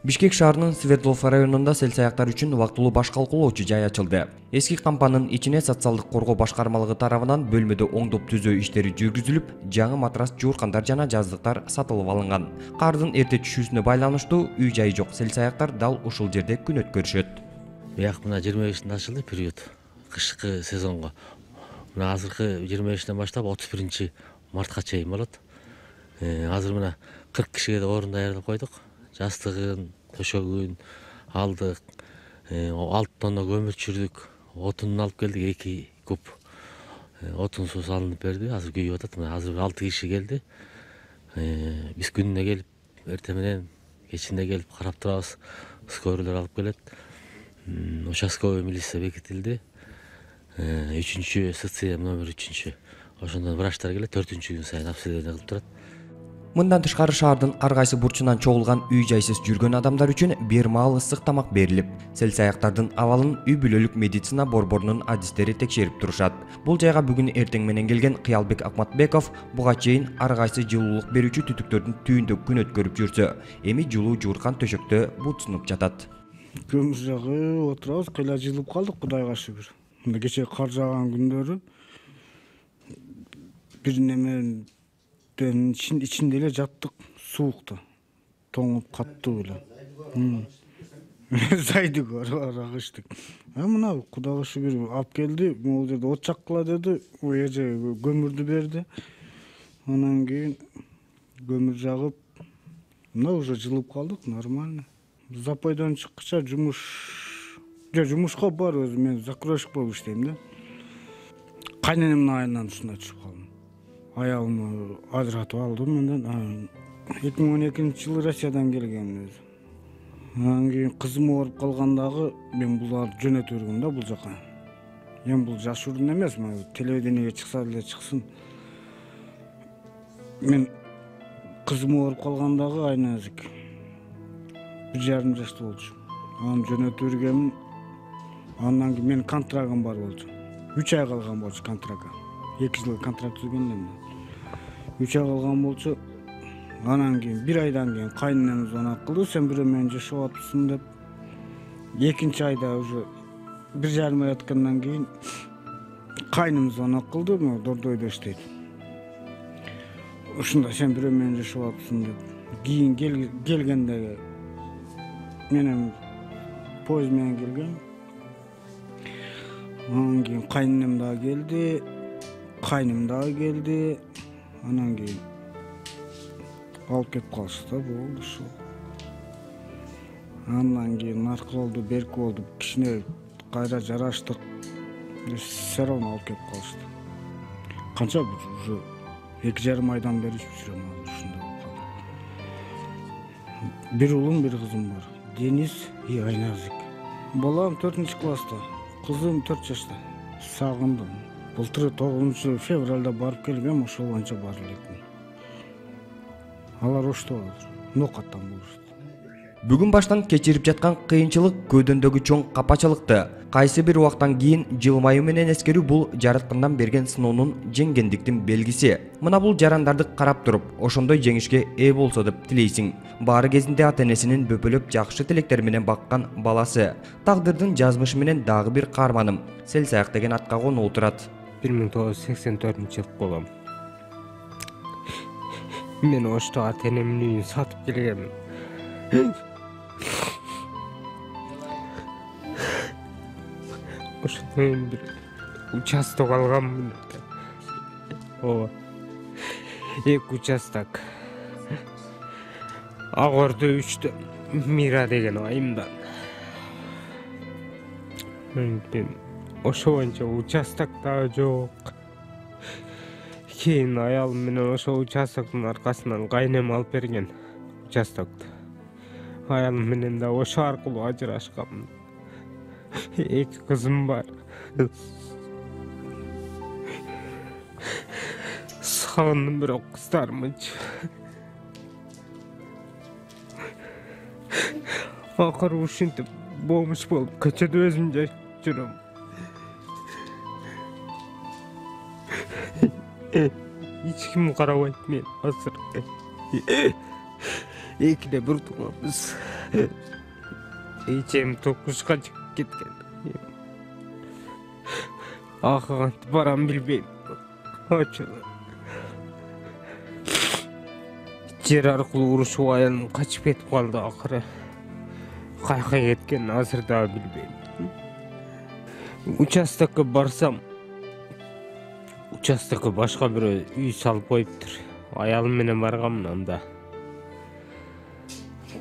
Бишкек шаарынын Свердлов районунда сел саяктар үчүн убактылуу баш калкуулоочу жай ачылды. Эски кампанын ичине социалдык коргоо башкармалыгы тарабынан бөлмөдө оңдоп түзөө иштери жүргүзүлүп, жаңы матрас, жууркандар жана жаздыктар сатылып алынган. Кардын эрте түшүүсүнө байланыштуу үй-жайы жок сел саяктар дал ушул жерде күн өткөрүшөт. Бияк мына 25-нд ачылды период кышкы сезонго. Мына азыркы 25-ден баштап 31 мартка чейин болот. Азыр мына 40 кишиге да орун даярдап койдук. Жастыгын, төшөгүн алдык, 6 тонна көмүр түшүрдүк, отунун алып келдик, 2 куб отун суу салынып берди. Азыр күйүп атат. Мына азыр 6 киши келди. Биз күнүнө келип, эртең менен, кечинде келип карап турабыз. Скорыйлар алып келет. Участковый милиция бекитилди. 3-чү СЦМ номер 3-чү. Ошондон врачтар келет, 4-күн сайын обследование кылып турат. Мындан тышкары шаардын ар кайсы бурчунан чогулган үй-жайсыз жүргөн адамдар үчүн бир маал ысык тамак берилип, сел саяктардын абалын үй бүлөлүк медицина борборунун адистери текшерип турушат. Бул жайга бүгүн эртең менен келген Кыялбек Акматбеков буга чейин ар кайсы жылуулук берүүчү түтүктөрдүн түйүндө күн өткөрүп жүрсө, эми жылуу жууркан төшөктө бутсунуп жатат. Көмүр жагып отурабыз, кыйла жылып калдык, Кудайга шүгүр. Мына кечээ кар жааган күндөрү бир неменин ичинде эле жаттык, суукта, тоңуп каттуу эле. Зайды агыштык. Мына Кудайга шүгүр алып келди, могул жерде от жаккыла деди, эже көмүрдү берди. Анан кийин көмүр жагып, мына уже жылып калдык, нормально. Запойдон чыккыча жумушка бар өзү, мен закройщик болуп иштейм да. Кайненемдин айынан ушундай түшүп калдым. Аялымды ажыратып алдым менден. 2012-жылы Россиядан келгенмин өзү. Анан кийин кызым ооруп калгандагы мен буларды жөнөтүп жүргөм да бул жака. Эми бул жаш урун эмес, телевидениеге чыкса деле чыксын. Мен кызым ооруп калгандагы айназик 1,5 жашта болчу. Аны жөнөтүп жүргөм. Андан кийин менин контрагым бар болчу. 3 ай калган болчу контракка. 2 жыл контракт түзгөндө. 3 ай калган болчу. Анан кийин 1 айдан кийин кайненем звонок кылды, сен бирөө менен жашап атпсың деп. 2-нчи айда уже 1,5 ай өткөндөн кийин кайным звонок кылды, Дордойдо иштейт. Ушунда сен бирөө менен жашап атпсың деп. Кийин келгенде менен поезд менен келгем. Анан кийин кайненем дагы келди, кайным дагы келди. Анан кийин алып кетип калышты да, болду ушул. Андан кийин наркы болду, берки болду, кичине кайра жараштык. Все равно алып кетип калышты. Канча уже 2,5 айдан бери жүрөм ушунда болуп калды. Бир уулум, бир кызым бар. Денис и Айназик. Балам 4-класста, кызым 4 жашта. Сагындым. Былтыр 9-февралда барып келгем, ошол боюнча бара элекмин. Алар ошто нокаттан болушту. Бүгүн баштан кечирип жаткан кыйынчылык көөдөндөгү чоң капачылыкты кайсы бир убактан кийин жылмаюу менен эскерүү бул жараткандан берген сыноонун жеңгендиктин белгиси. Мына бул жарандарды карап туруп, ошондой жеңишке ээ болсо деп тилейсиң. Баары кезинде ата-энесинин бөпөлөп жакшы тилектер менен баккан баласы. Тагдырдын жазмышы менен дагы бир каарманым сел саяк деген атка конуп турат. 1984-жыл болом. Мен ошто ата-энемдин үйүн сатып келгемин. Ошондон бир участок алганмын. Ооба. 2 участок. Агордо 3-тө Мира деген айымдан. Мен ошо боюнча участок дагы жок. Кийин аялым менен ошо участоктун аркасынан кайнем алып берген участокду. Аялым менен да ошо аркылуу ажырашканмын. 2 кызым бар. Сагындым бирок кыздарымычы. Акыры ушинтип болмуш болуп көчөдө өзүм жашап жүрөм. Эч ким карабайт мен азыр. Экиде бир тумабыз. эчем токушка чыгып кеткен. Кантип барам билбейм. Жер аркылуу урушуп аялым качып кетип калды акыры. Кайка кеткен азыр да билбейм. Участокко барсам, участокко башка бирөө үй салып коюптур. Аялым менен барганмын анда.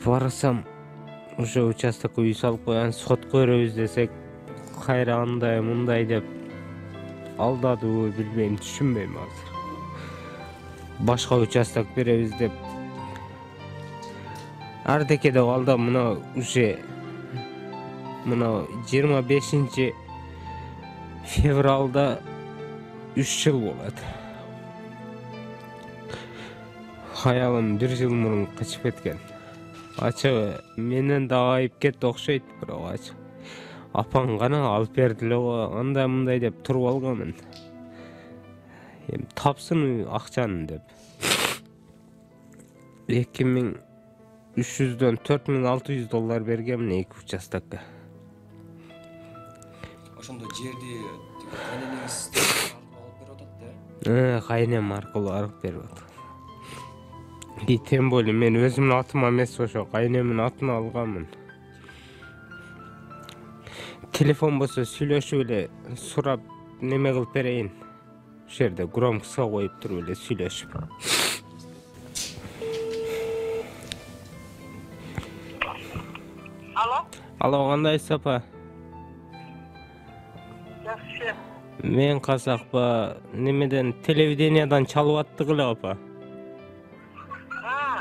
Барсам, ошо участокко үй салып койган, сотко беребиз десек, кайра андай мындай деп алдадыбы билбейм, түшүнбөйм азыр. Башка участок беребиз деп ардеке деп алда мына уже мына 25 февралда 3 жыл болот. Аялым 1 жыл мурун качып кеткен. Ачыгы менен дагы айыпкет окшойт, бирок ачык. Апаң гана алып берди эле го, андай мындай деп туруп алганмын. Эми тапсын акчаны деп. 2300дөн 4600 доллар бергенмин эки участокко. Ошондо жерди кайненеңиз алып берип атат да? Кайнем аркылуу алып берип атат. Тем более мен өзүмдүн атыма эмес, ошо кайнемдин атына алганмын. Телефон болсо сүйлөшүп эле сурап неме кылып берейин. Ошол жерде громкоско коюп туруп эле сүйлөшүп. Алло, кандайсыз апа? Жакшы. Мен казакпа, немеден телевидениядан чалып аттык эле апа.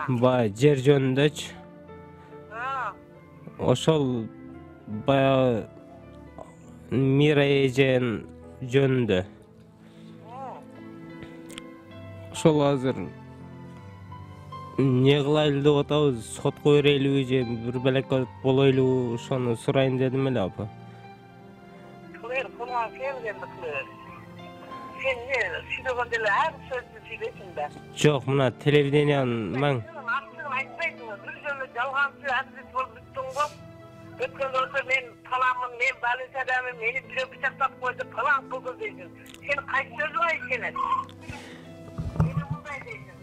Баягы жер жөнүндөчү. Ошол баягы Мира эжен жөнүндө. Ошол азыр не кылайлы деп атабыз, сотко берейлиби же бир белекке болойлубу, ошону сурайын дедим эле апа. Кылган келгенди кылыр. Сен не сүйлөгөндө эле ар сөздү сүйлөйсүң да. Жок, мына телевидениянын маң. Актыгын айтпайсың, бир жолу жалганчы адвокат болуп бүттүң го. Өткөндө болсо мен таламын, мен балысадамын, мени бирөө бычактап койду, талан кылды дейсиң. Сен кайсы сөзүңө ишенет? Мени мындай дейсиң.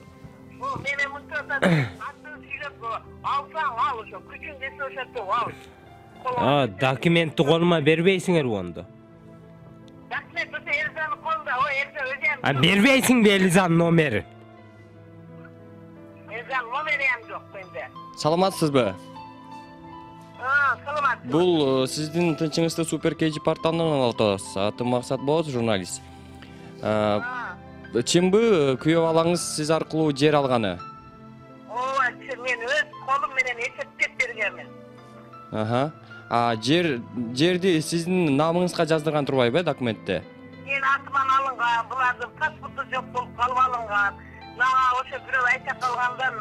О, менен мынтса актыгын сүйлөп алсаң ал ошо, күчүң десе ошентип ал. Документти колума бербейсиңер ондо. Документ болсо Элизанын колунда, о Элиза өзү. Бербейсиңби Элизанын номери? Элизанын номери жок менде. Саламатсызбы? Саламат. Бул сиздин тынчыңызды Супер KG порталынан алып атабыз. Атым Максат болот, журналист. Чынбы күйөө балаңыз сиз аркылуу жер алганы? Ооба, мен өз колум менен эсептеп бергенмин. Жерди сиздин намыңызга жаздырган турбайбы документте? Мен атыман алынган, булардын паспорту жок болуп калып алынган. Мага ошо бирөө айта калгандан,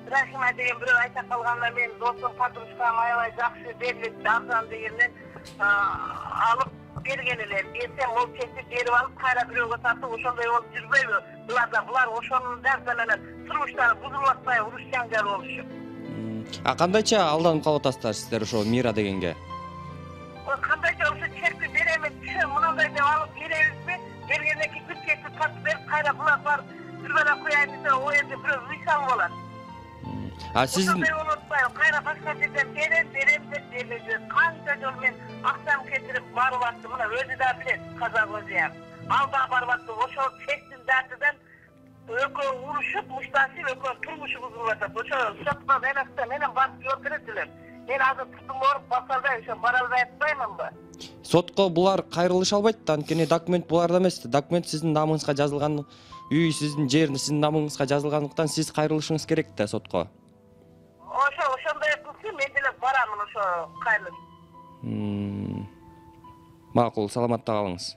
Рахима деген бирөө айта калгандан мен досум, подружкам аябай жакшы берилет, арзан дегенден алып берген элем. Берсем ол чечип берип алып, кайра бирөөгө сатып, ошондой болуп жүрбөйбү? Булар ошонун дагы менен турмуштары бузулуп атпай, уруш жаңжал болушу. Кандайча алданып калып атасыздар сиздер ошо Мира дегенге? Кандайча ошо чекти беремиз, мындай деп алып беребизби? Бергенден кийин бир чекти сатып берип, кайра булар бар бир бала кояйын десе, о жерде бирөө үй салып алат. Сиздин кайра башка жерден берем деп бербейбиз. Канча жолу мен акчам кетирип барып аттым, мына өзү да билет, казак өзү. Ал да барып атты, ошол чектин датыдан экөө урушуп, мушташып, экөө турмушу бузулуп атат. Ошо сотко менен барып жооп берет элем. Мен азыр турдум ооруп басалбай, ошо бара албай атпаймынбы? Сотко булар кайрылыша албайт, анткени документ буларда эмес. Документ сиздин намыңызга жазылган, үй сиздин жер сиздин намыңызга жазылгандыктан сиз кайрылышыңыз керек да сотко. Ошондой кылсам мен деле барамын ошо кайрылып. Макул, саламатта калыңыз.